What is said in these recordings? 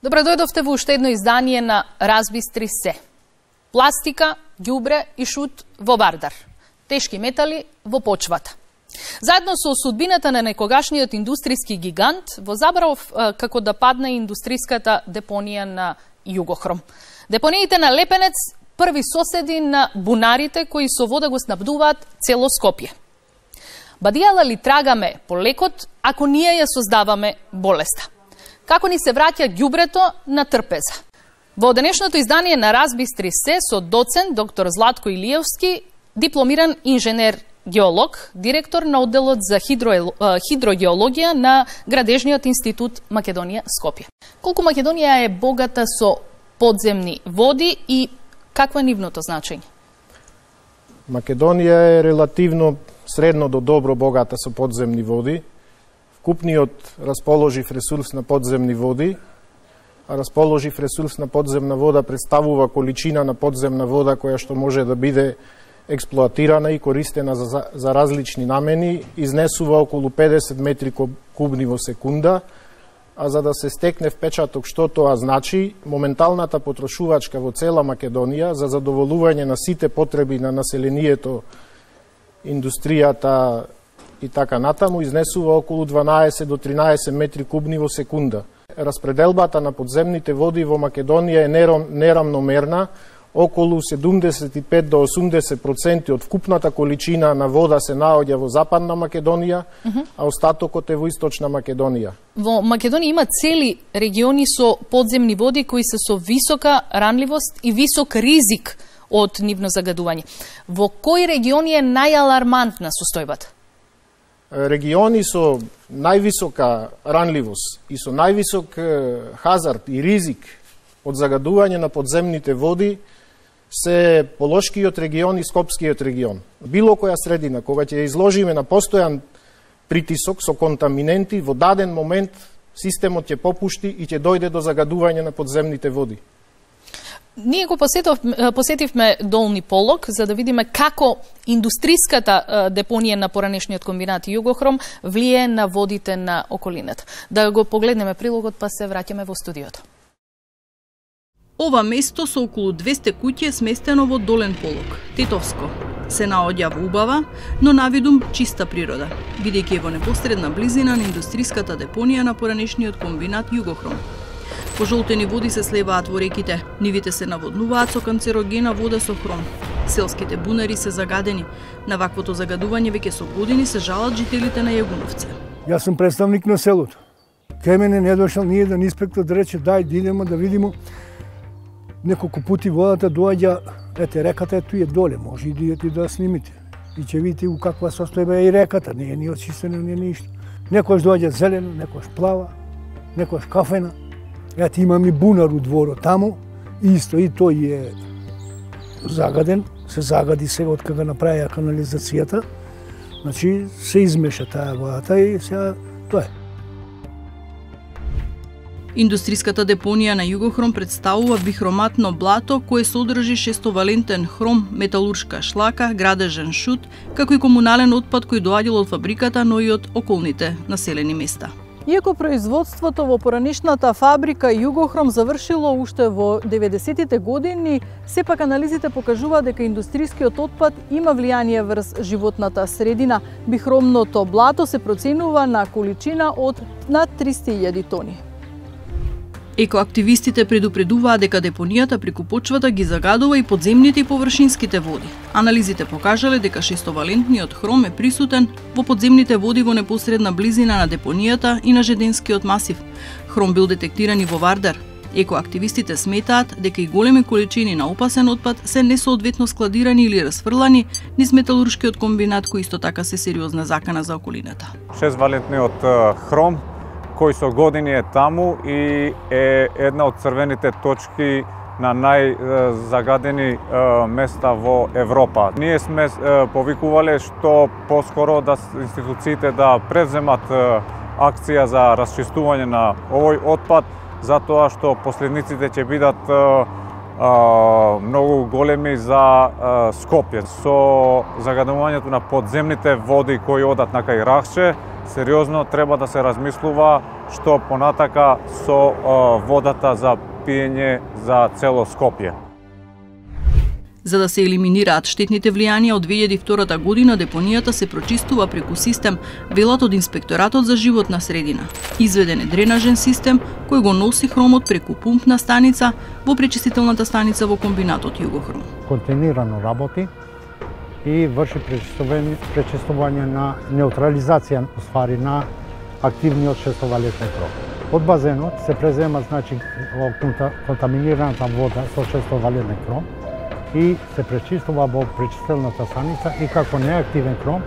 Добро дојдовте во уште едно издание на Разбистри се. Пластика, ѓубре и шут во Вардар. Тешки метали во почвата. Заедно со судбината на некогашниот индустријски гигант, во забрав како да падне индустријската депонија на Југохром. Депониите на Лепенец први соседи на бунарите кои со вода го снабдуваат цело Скопје. Бадијала ли трагаме по лекот ако ние ја создаваме болеста? Како ни се враќа ѓубрето на трпеза? Во денешното издание на Разбистри се со доцент доктор Златко Илиевски, дипломиран инженер-геолог, директор на одделот за хидрогеологија на Градежниот институт Македонија Скопје. Колку Македонија е богата со подземни води и какво е нивното значење? Македонија е релативно средно до добро богата со подземни води. Вкупниот расположив ресурс на подземни води, а расположив ресурс на подземна вода представува количина на подземна вода која што може да биде експлоатирана и користена за различни намени, изнесува околу 50 метри кубни во секунда, а за да се стекне впечаток што тоа значи, моменталната потрошувачка во цела Македонија за задоволување на сите потреби на населението, индустријата и така натаму изнесува околу 12 до 13 метри кубни во секунда. Распределбата на подземните води во Македонија е нерамномерна, околу 75 до 80% од вкупната количина на вода се наоѓа во Западна Македонија, а остатокот е во Источна Македонија. Во Македонија има цели региони со подземни води кои се со висока ранливост и висок ризик од нивно загадување. Во кои региони е најалармантна состојбата? Региони со највисока ранливост и со највисок хазард и ризик од загадување на подземните води се Полошкиот регион и Скопскиот регион. Било која средина, кога ќе изложиме на постојан притисок со контаминенти, во даден момент системот ќе попушти и ќе дојде до загадување на подземните води. Ние го посетивме Долни Полог за да видиме како индустријската депонија на поранешниот комбинат Југохром влие на водите на околината. Да го погледнеме прилогот па се враќаме во студиото. Ова место со околу 200 куќи е сместено во Долен Полог, Тетовско. Се наоѓа во убава, но навидум чиста природа, бидејќи е во непосредна близина на индустријската депонија на поранешниот комбинат Југохром. Пожолтени води се слеваат во реките, нивите се наводнуваат со канцерогена вода со хром. Селските бунари се загадени. На ваквото загадување веќе со години се жалат жителите на Јагуновце. Јас сум представник на селото. Кај мене не дошал ни еден инспектор да рече дај да идеме да видиме. Неколку пути водата доаѓа, ете реката е туе доле, може и да идете да снимите. И ќе видите у каква состојба е и реката, не е ни очистена, не е ништо. Некојаш доаѓа зелено, некојаш плава, некојаш кафена. Ете имам и бунар у дворот таму, исто и тој е загаден, се загади сега од кога направија канализацијата. Значи се измеша таа водата и сега тоа е. Индустријската депонија на Југохром представува бихроматно блато кое содржи шестовалентен хром, металуршка шлака, градежен шут, како и комунален отпад кој доаѓал од фабриката, но и од околните населени места. Иако производството во поранешната фабрика Југохром завршило уште во 90-тите години, сепак анализите покажуваат дека индустријскиот отпад има влијание врз животната средина. Бихромното блато се проценува на количина од над 300.000 тони. Екоактивистите предупредуваат дека депонијата преку почвата ги загадува и подземните и површинските води. Анализите покажале дека шестовалентниот хром е присутен во подземните води во непосредна близина на депонијата и на Жеденскиот масив. Хром бил детектиран и во Вардар. Екоактивистите сметаат дека и големи количини на опасен отпад се несоодветно складирани или расфрлани низ металуршкиот комбинат кој исто така се сериозна закана за околината. Шествалентниот хром кој со години е таму и е една од црвените точки на најзагадени места во Европа. Ние сме повикувале што поскоро да институциите да превземат акција за расчистување на овој отпад, затоа што последниците ќе бидат многу големи за Скопје. Со загадувањето на подземните води кои одат на кај Рахче, сериозно треба да се размислува што понатака со водата за пиење за цело Скопје. За да се елиминираат штетните влијанија од 2002 година, депонијата се прочистува преку систем, велат од Инспекторатот за животна средина. Изведен е дренажен систем кој го носи хромот преку пумпна станица во пречистителната станица во комбинатот Југохром. Континуирано работи и врши пречистување на неутрализација на активниот шестовалентен хром. Од базенот се презема контаминираната вода со шестовалентен хром и се пречистува во пречистилната станица и како неактивен хром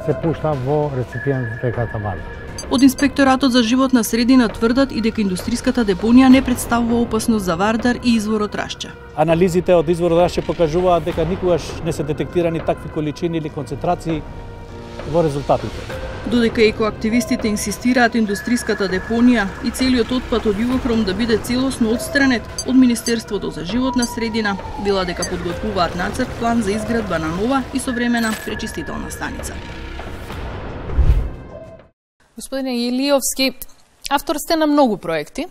се пушта во реципиент реката Вардар. Од Инспекторатот за животна средина тврдат и дека индустриската депонија не представува опасност за Вардар и изворот Рашче. Анализите од изворот Рашче покажуваат дека никогаш не се детектирани такви количини или концентрации во резултатите. Додека екоактивистите инсистираат индустриската депонија и целиот отпад од Југохром да биде целосно отстранет од Министерството за животна средина, вела дека подготвуваат нацрт план за изградба на нова и современа пречистителна станица. Господине Илиовски, автор сте на многу проекти,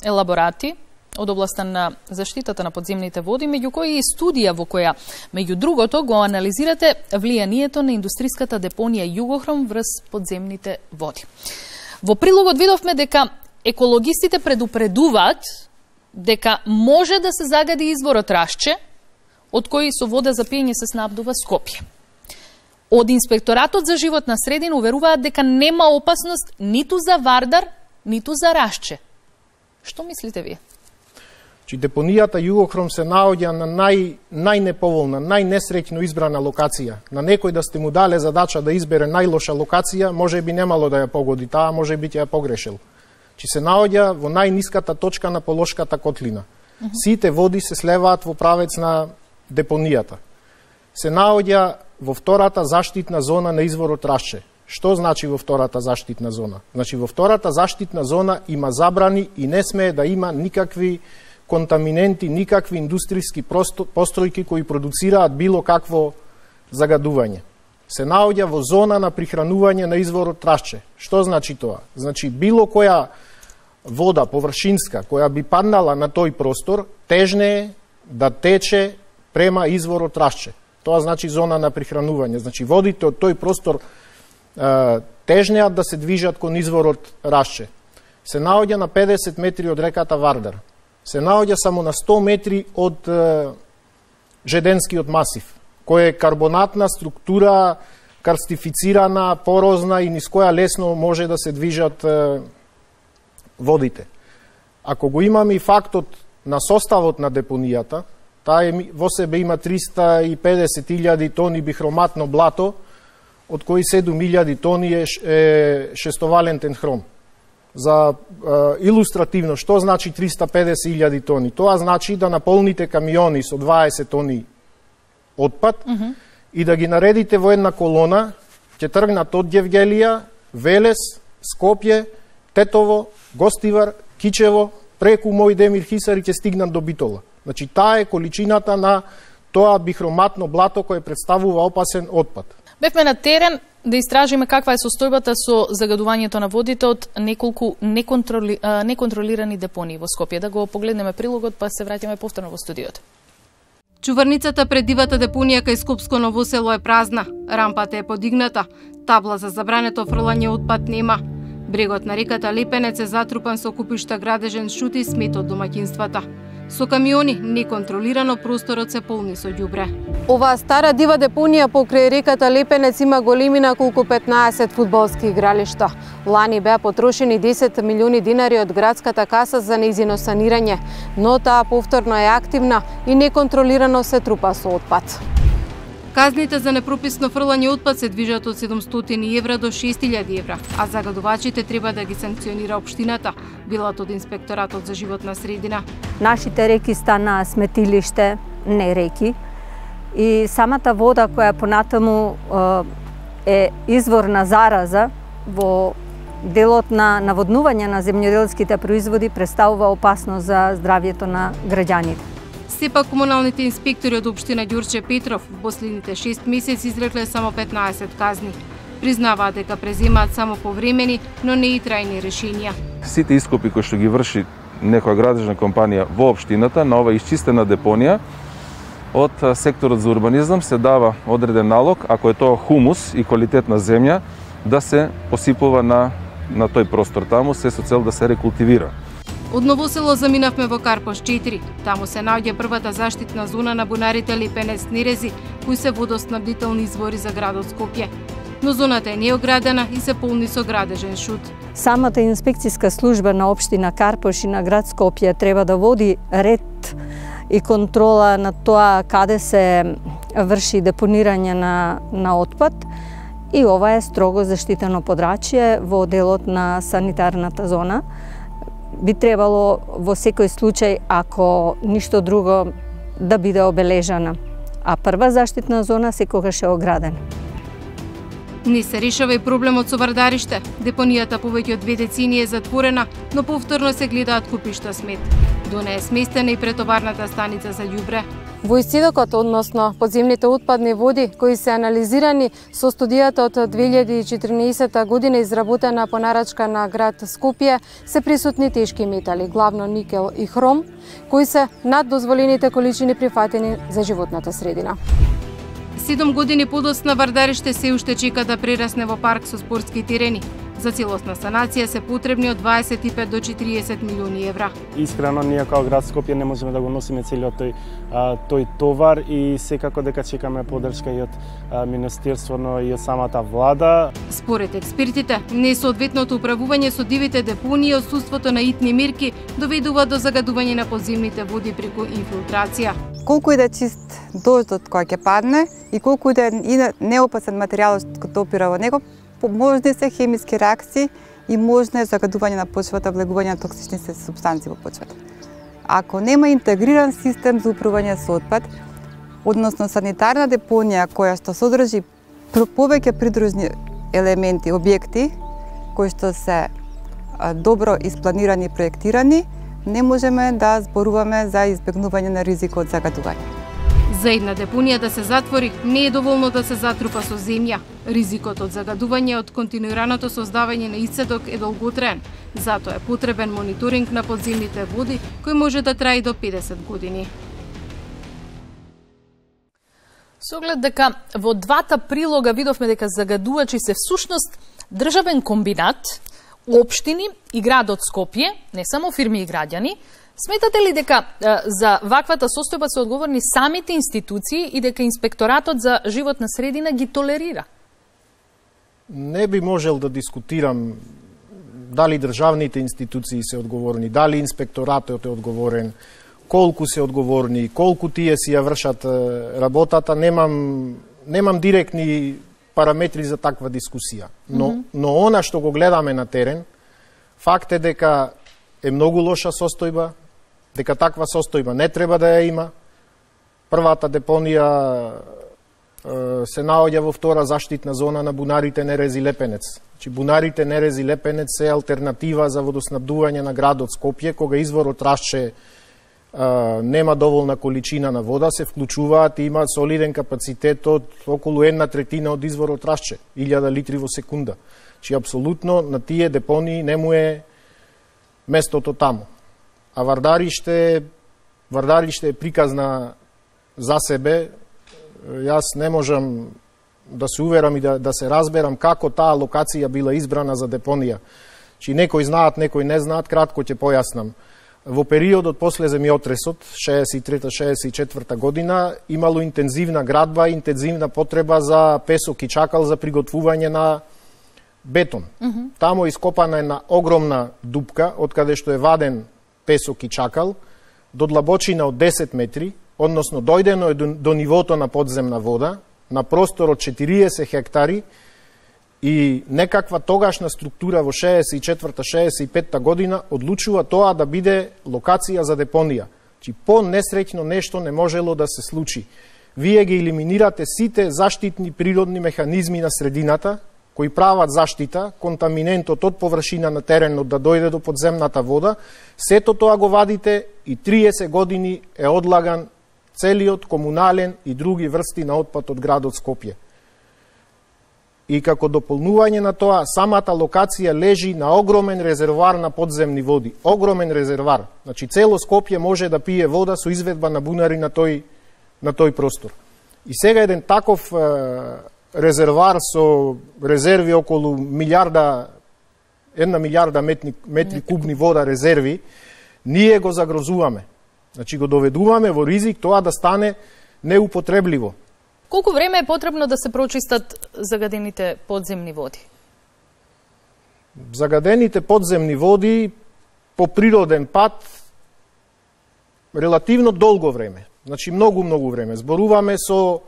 елаборати од областта на заштитата на подземните води, меѓу кои и студија во која, меѓу другото, го анализирате влијанието на индустриската депонија Југохром врз подземните води. Во прилогот видовме дека екологистите предупредуваат дека може да се загади изворот Рашче, од кој со вода за пиење се снабдува Скопје. Од Инспекторатот за животна средина уверуваат дека нема опасност ниту за Вардар, ниту за Рашче. Што мислите вие? Депонијата Југохром се наоѓа на најнеповолна, најнесреќно избрана локација. На некој да сте му дале задача да избере најлоша локација, може би немало да ја погоди, таа може би ќе ја погрешил. Се наоѓа во најниската точка на Полошката котлина. Сите води се слеваат во правец на депонијата. Се наоѓа во втората заштитна зона на изворот Рашче. Што значи во втората заштитна зона? Значи во втората заштитна зона има забрани и не смее да има никакви контаминенти, никакви индустријски постројки кои продуцираат било какво загадување. Се наоѓа во зона на прихранување на изворот Рашче. Што значи тоа? Значи било која вода површинска која би паднала на тој простор, тежне е да тече према изворот Рашче. Тоа значи зона на прихранување. Значи водите од тој простор тежнеат да се движат кон изворот Рашче. Се наоѓа на 50 метри од реката Вардар. Се наоѓа само на 100 метри од Жеденскиот масив, кој е карбонатна структура, карстифицирана, порозна и низ која лесно може да се движат водите. Ако го имаме и фактот на составот на депонијата, таа во себе има 350.000 тони бихроматно блато, од кои 7.000 тони е шестовалентен хром. За илустративно, што значи 350.000 тони? Тоа значи да наполните камиони со 20 тони отпад и да ги наредите во една колона, ќе тргнат од Гевгелија, Велес, Скопје, Тетово, Гостивар, Кичево, преку Мојдемир Хисар и ќе стигнат до Битола. Значи, таа е количината на тоа бихроматно блато кој представува опасен отпад. Бевме на терен да истражиме каква е состојбата со загадувањето на водите од неколку неконтролирани депонии во Скопје. Да го погледнеме прилогот, па се враќаме повторно во студиото. Чуварницата пред дивата депонија кај Скопско Ново село е празна. Рампата е подигната. Табла за забрането фрлање отпад нема. Брегот на реката Лепенец е затрупан со купишта градежен шут и смет од домаќинствата. Со камиони, неконтролирано просторот се полни со ѓубре. Оваа стара дива депонија покрај реката Лепенец има големина колку 15 фудбалски игралишта. Лани беа потрошени 10 милиони динари од градската каса за нејзино санирање, но таа повторно е активна и неконтролирано се трупа со отпад. Казните за непрописно фрлање отпад се движат од 700 евра до 6000 евра, а загадувачите треба да ги санкционира општината, билат од Инспекторатот за животна средина. Нашите реки стана сметилиште, не реки, и самата вода која понатаму е извор на зараза во делот на наводнување на земјоделските производи представува опасност за здравјето на граѓаните. Сепак комуналните инспектори од општина Ѓурче Петров во последните 6 месеци изрекле само 15 казни. Признаваат дека преземаат само повремени, но не и трајни решенија. сите ископи кои што ги врши некоја градежна компанија во општината на ова исчистена депонија, од секторот за урбанизам се дава одреден налог, ако е тоа хумус и квалитетна земја, да се посипува на тој простор таму, се со цел да се рекултивира. Од Новосело заминавме во Карпош 4. Таму се наоѓа првата заштитна зона на бунарите Липенец Нерези, кои се водоснабдителни извори за градот Скопје. Но зоната е неоградена и се полни со градежен шут. Самата инспекцијска служба на општина Карпош и на град Скопје треба да води ред и контрола на тоа каде се врши депонирање на отпад, и ова е строго заштитено подрачје во делот на санитарната зона. Би требало во секој случај, ако ништо друго, да биде обележана, а прва заштитна зона секогаш е оградена. Не се решава и проблемот со Вардариште. Депонијата повеќе од 2 децении е затворена, но повторно се гледаат купишта смет. До неа е сместена и претоварната станица за љубре. Во исцедокот, односно подземните отпадни води, кои се анализирани со студијата од 2014 година изработена по нарачка на град Скопје, се присутни тешки метали, главно никел и хром, кои се над дозволените количини прифатени за животната средина. 7 години подоцна Вардариште се уште чека да прерасне во парк со спортски терени. За целосна санација се потребни од 25 до 40 милиони евра. Искрено, ние како град Скопје не можеме да го носиме целиот тој товар и секако дека чекаме поддршка и од Министерството и од самата влада. Според експертите, несоодветното управување со дивите депонии и отсуството на итни мерки доведува до загадување на подземните води преку инфилтрација. Колку и да чист дождот кој ќе падне и колку и да е неопасен материјал што допира во него, можни се хемиски реакции и можно е загадување на почвата, влегување на токсични супстанции во почвата. Ако нема интегриран систем за управување со отпад, односно санитарна депонија која што содржи повеќе придружни елементи, објекти кои што се добро испланирани и проектирани, не можеме да зборуваме за избегнување на ризик од загадување. За една депонија да се затвори, не е доволно да се затрупа со земја. Ризикот од загадување од континуираното создавање на исцедок е долготраен. Затоа е потребен мониторинг на подземните води, кој може да трае до 50 години. Со оглед дека во двата прилога видовме дека загадувачи се всушност државен комбинат, општини и градот Скопје, не само фирми и граѓани, сметате ли дека за ваквата состојба се одговорни самите институции и дека инспекторатот за животна средина ги толерира? Не би можел да дискутирам дали државните институции се одговорни, дали инспекторатот е одговорен, колку се одговорни, колку тие си ја вршат работата. Немам директни параметри за таква дискусија. Но она што го гледаме на терен, факт е дека е многу лоша состојба, дека таква состојба не треба да ја има. Првата депонија се наоѓа во втора заштитна зона на бунарите Нерези Лепенец. Значи, бунарите Нерези Лепенец е алтернатива за водоснабдување на градот Скопје, кога изворот Рашче нема доволна количина на вода, се вклучуваат и има солиден капацитет од околу 1/3 од изворот Рашче, 1000 литри во секунда. Значи, апсолутно на тие депонии не му е местото таму. А Вардариште е приказна за себе. Јас не можам да се уверам и да се разберам како таа локација била избрана за депонија. Чи некои знаат, некои не знаат, кратко ќе појаснам. Во периодот после земјотресот, 63-64 година, имало интензивна градба, интензивна потреба за песок и чакал за приготвување на бетон. Тамо ископана една огромна дупка, од каде што е ваден песок и чакал, до длабочина од 10 метри, односно дојдено е до нивото на подземна вода, на простор од 40 хектари, и некаква тогашна структура во 64-65 година одлучува тоа да биде локација за депонија. Чи по-несреќно нешто не можело да се случи. Вие ги елиминирате сите заштитни природни механизми на средината, кои прават заштита, контаминентот од површина на теренот да дојде до подземната вода, сето тоа го вадите и 30 години е одлаган целиот комунален и други врсти на отпад од градот Скопје. И како дополнување на тоа, самата локација лежи на огромен резервоар на подземни води. Огромен резервоар. Значи, цело Скопје може да пие вода со изведба на бунари на тој простор. И сега еден таков резервоар со резерви околу 1 милиарда метри кубни вода резерви, ние го загрозуваме. Значи, го доведуваме во ризик тоа да стане неупотребливо. Колку време е потребно да се прочистат загадените подземни води? Загадените подземни води по природен пат релативно долго време. Значи многу време. Зборуваме со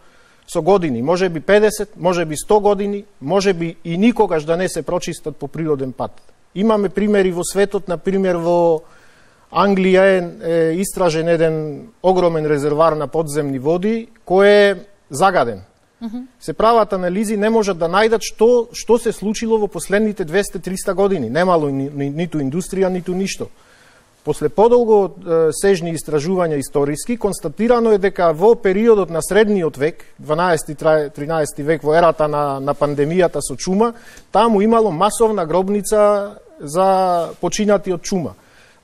години, може би 50, може би 100 години, може би и никогаш да не се прочистат по природен пат. Имаме примери во светот, на пример во Англија е истражен еден огромен резервоар на подземни води кој е загаден. Се прават анализи, не можат да најдат што се случило во последните 200-300 години. Немало ниту индустрија, ниту ништо. После подолго сежни истражувања историски, констатирано е дека во периодот на средниот век, 12-13 век, во ерата на пандемијата со чума, таму имало масовна гробница за починати од чума.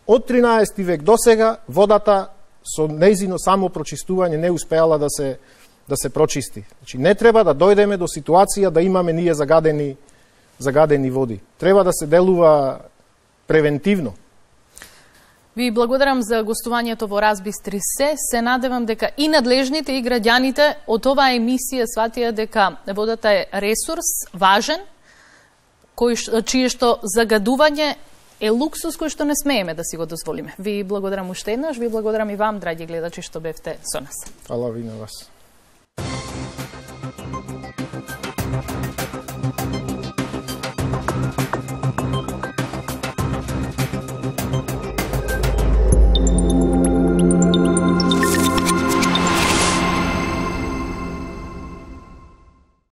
Од 13 век до сега, водата со нејзино само прочистување не успеала да се прочисти. Значи, не треба да дојдеме до ситуација да имаме ние загадени води. Треба да се делува превентивно. Ви благодарам за гостувањето во Разбистри се. Се надевам дека и надлежните и граѓаните од оваа емисија сватија дека водата е ресурс важен, чие што загадување е луксус кој што не смееме да си го дозволиме. Ви благодарам уште еднаш, ви благодарам и вам, драги гледачи, што бевте со нас. Фала ви на вас.